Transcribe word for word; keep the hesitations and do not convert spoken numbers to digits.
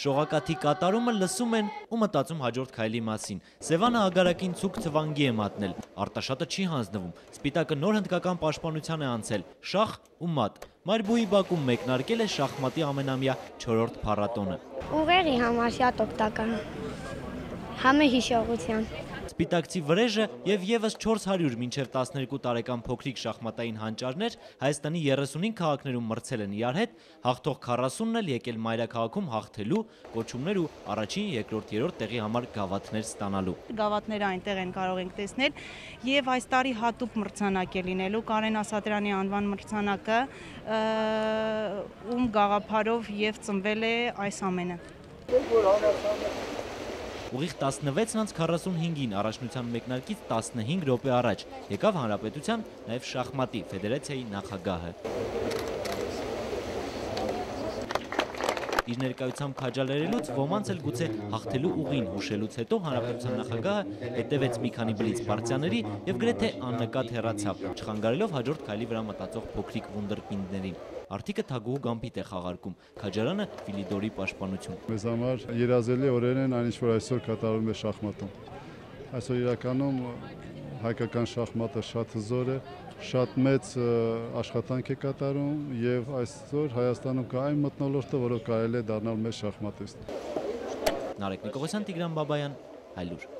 Շողակաթի կատարումը լսում են ու մտածում հաջորդ քայլի մասին։ Սևանը ագարակին ցուկ թվանգի է մատնել, Արտաշատը չի հանձնվում, Սպիտակը նոր հնդկական պաշտպանության է անցել, շախ ու մատ։ Մարբուի բակում մեկնարկել է շախմատի ամենամյա չորրորդ փառատոնը։ Ուղեղի համար շատ օգտակար, համը հիշողության։ Սպիտակցի վրեժը և ևս չորս հարյուր մինչև տասներկու տարեկան փոքրիկ շախմատային հանճարներ Հայաստանի երեսունհինգ քաղաքներում մրցել են իրար հետ, հաղթող քառասունն էլ եկել մայրաքաղաքում հաղթելու, կոչումներ ու առաջին, երկրորդ, երրորդ տեղի համար գավաթներ ստանալու։ Գավաթները այնտեղ են կարող ենք տեսնել և այս տարի հատուկ մրցանակ է լինելու Կարեն Ասատրյանի անվան մրցանակը, ում գաղափարով և ծնվել է այս ամենը։ Ուղիղ տասնվեցն անց քառասունհինգին առաջնության մեկնարկից տասնհինգ րոպե առաջ եկավ Հանրապետության նաև շախմատի ֆեդերացիայի նախագահը։ Իր ներկայությամբ քաջալերելուց ոմանց էլ գուցե հաղթելու ուղին հուշելուց հետո Հանրապետության նախագահը հետևեց մի քանի բլից պարտիաների և գրեթե աննկատ հեռացավ, չխանգարելով հաջորդ քայլի վրա մտածող փոքրիկ վունդերկինդներին։ Արդիկը թագուհու գամբիթ է խաղարկում, քաջարանը Ֆիլիդորի պաշտպանություն։ Մեզ համար երազելի օրեր են այն ինչ որ այսօր կատարվում է շախմատում։ Այսօր իրականում հայկական շախմատը շատ հզոր է, շատ մեծ աշխատանք է կատարում և այսօր Հայաստանում կա այն մթնոլորտը, որով կարելի է դառնալ մեծ շախմատիստ։ Նարեկ Նիկողոսյան, Տիգրան Բաբայան, Հայլուր։